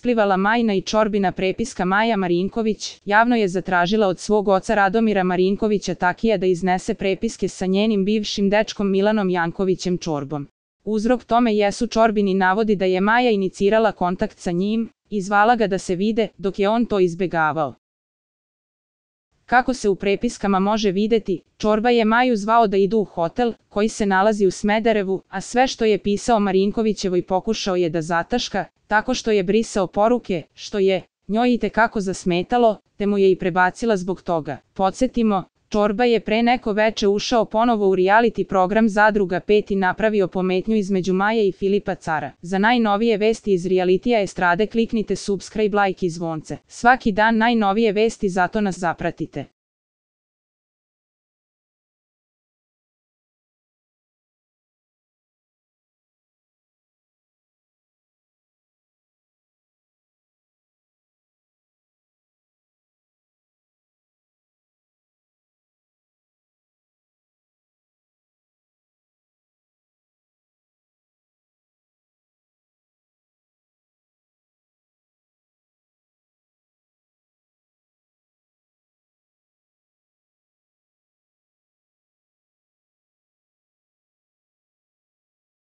isplivala Majina i Čorbina prepiska Maja Marinković, javno je zatražila od svog oca Radomira Marinkovića Takija da iznese prepiske sa njenim bivšim dečkom Milanom Jankovićem Čorbom. Uzrok tome jesu Čorbini navodi da je Maja inicirala kontakt sa njim i zvala ga da se vide, dok je on to izbegavao. Kako se u prepiskama može videti, Čorba je Maju zvao da idu u hotel, koji se nalazi u Smederevu, a sve što je pisao Marinkovićevoj pokušao je da zataška, tako što je brisao poruke, što je njoj itekako zasmetalo, te mu je i prebacila zbog toga. Podsjetimo, Čorba je pre neko veče ušao ponovo u reality program Zadruga 5 i napravio pometnju između Maje i Filipa Cara. Za najnovije vesti iz realitija estrade kliknite subscribe, like i zvonce. Svaki dan najnovije vesti, zato nas zapratite.